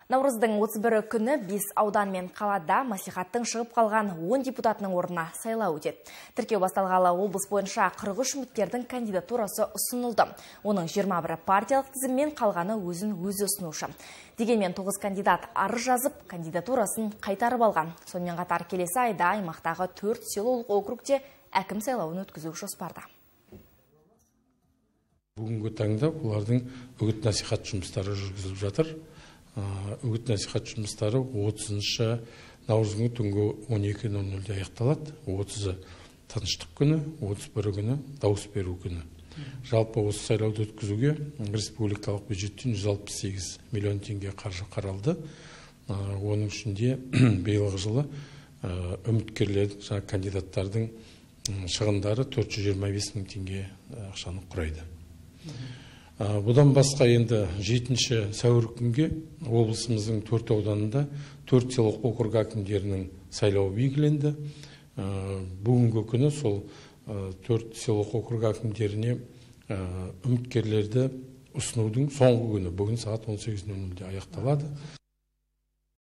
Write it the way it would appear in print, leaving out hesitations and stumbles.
Наурыздың 31 күні 5 аудан мен қалада мәслихаттың шығып қалған 10 депутатының орнына сайлау өтеді. Тіркеу басталғалы облыс бойынша 43 үміткердің кандидатурасы ұсынылды. Оның 21 партиялық тізіммен, қалғаны өзі ұсынушы. Дегенмен 9 кандидат арыз жазып, кандидатурасын қайтарып алған. Сонымен қатар келесі айда аймақтағы 4 селолық округте әкім сайлауын өткізу жоспарда. Бүгінгі таңда олардың үгіт-насихат жұмыстары жүргізіліп жатыр. Үгіт-насихат жұмыстары 30 наурыздың түнгі 12:00-де аяқталады. 30-ы тыныштық күні, 31 күні дауыс беру күні. Жалпы осы сайлауды өткізуге республикалық бюджеттен 168 миллион теңге қаржы қаралды. Оның ішінде биылғы жылы үміткерлердің, жаңа кандидаттардың шығындары 425 мың теңге ақшаны құрайды. Бұдан басқа енді 7 сәуір күнге облысымыздың 4 ауданында 4 селолық округ әкімдерінің сайлауы белгіленді. Бүгінгі күні сол 4 селолық округ әкімдеріне үміткерлерді ұсынудың соңғы күні, бүгін сағат 18:00-де аяқталады.